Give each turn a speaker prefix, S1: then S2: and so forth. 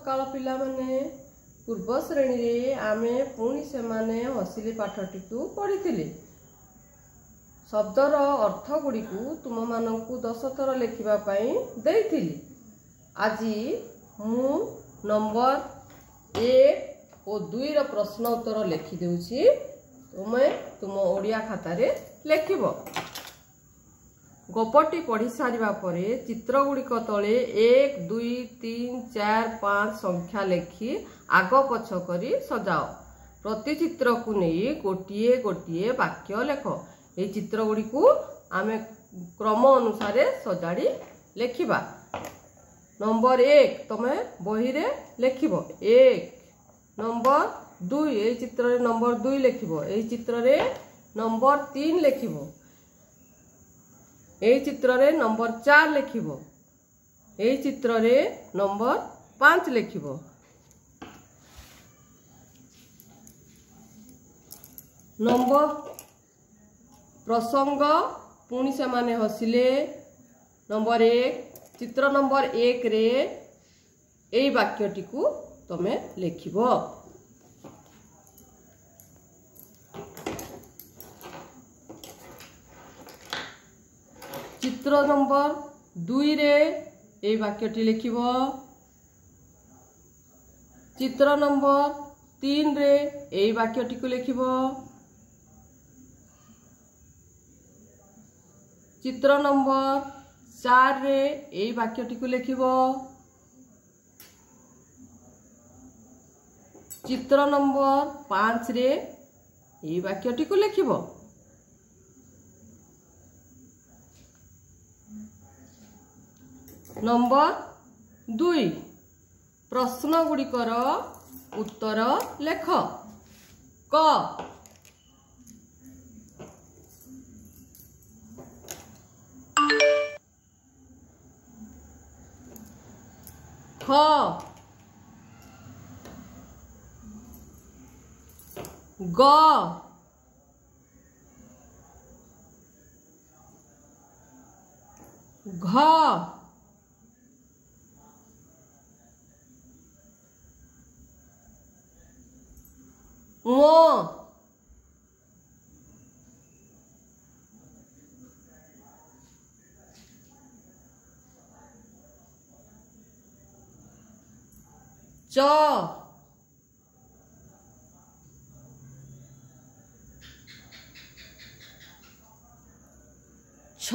S1: ସକାଳ ପିଲାମାନେ, ପୂର୍ବ ଶ୍ରେଣୀରେ ଆମେ ପୁଣି ସେମାନେ ହସିଲେ ପାଠଟିକୁ ପଢ଼ିଥିଲେ। ଶବ୍ଦର ଅର୍ଥ ଗୁଡ଼ିକୁ ତୁମମାନଙ୍କୁ 10 ଥର ଲେଖିବା ପାଇଁ ଦେଇଥିଲି। ଆଜି ମୁଁ ନମ୍ବର 1 ଓ 2ର ପ୍ରଶ୍ନ ଉତ୍ତର ଲେଖିଦେଉଛି, ତୁମେ ତୁମ ଓଡ଼ିଆ ଖାତାରେ ଲେଖିବ। ଗପଟି ପଢ଼ି ସାରିବା ପରେ ଚିତ୍ର ଗୁଡ଼ିକ ତଳେ 1, 2, 3, 4, 5 ସଂଖ୍ୟା ଲେଖି ଆଗ ପଛ କରି ସଜାଅ। ପ୍ରତି ଚିତ୍ରକୁ ନେଇ ଗୋଟିଏ ଗୋଟିଏ ବାକ୍ୟ ଲେଖ। ଏହି ଚିତ୍ର ଗୁଡ଼ିକୁ ଆମେ କ୍ରମ ଅନୁସାରେ ସଜାଡ଼ି ଲେଖିବା। ନମ୍ବର 1 ତମେ ବହିରେ ଲେଖିବ 1। ନମ୍ବର 2, ଏଇ ଚିତ୍ରରେ ନମ୍ବର 2 ଲେଖିବ। ଏଇ ଚିତ୍ରରେ ନମ୍ବର 3 ଲେଖିବ। ଏଇ ଚିତ୍ରରେ ନମ୍ବର 4 ଲେଖିବ। ଏଇ ଚିତ୍ରରେ ନମ୍ବର 5 ଲେଖିବ। ନମ୍ବର ପ୍ରସଙ୍ଗ ପୁଣି ସେମାନେ ହସିଲେ। ନମ୍ବର 1, ଚିତ୍ର ନମ୍ବର 1ରେ ଏଇ ବାକ୍ୟଟିକୁ ତମେ ଲେଖିବ। ଚିତ୍ର ନମ୍ବର 2ରେ ଏଇ ବାକ୍ୟଟି ଲେଖିବ। ଚିତ୍ର ନମ୍ବର 3ରେ ଏଇ ବାକ୍ୟଟିକୁ ଲେଖିବ। ଚିତ୍ର ନମ୍ବର 4ରେ ଏଇ ବାକ୍ୟଟିକୁ ଲେଖିବ। ଚିତ୍ର ନମ୍ବର 5ରେ ଏଇ ବାକ୍ୟଟିକୁ ଲେଖିବ। ନମ୍ବର 2, ପ୍ରଶ୍ନ ଗୁଡ଼ିକର ଉତ୍ତର ଲେଖ। କ, ଖ, ଗ, ଘ, ঙ, চ, ছ,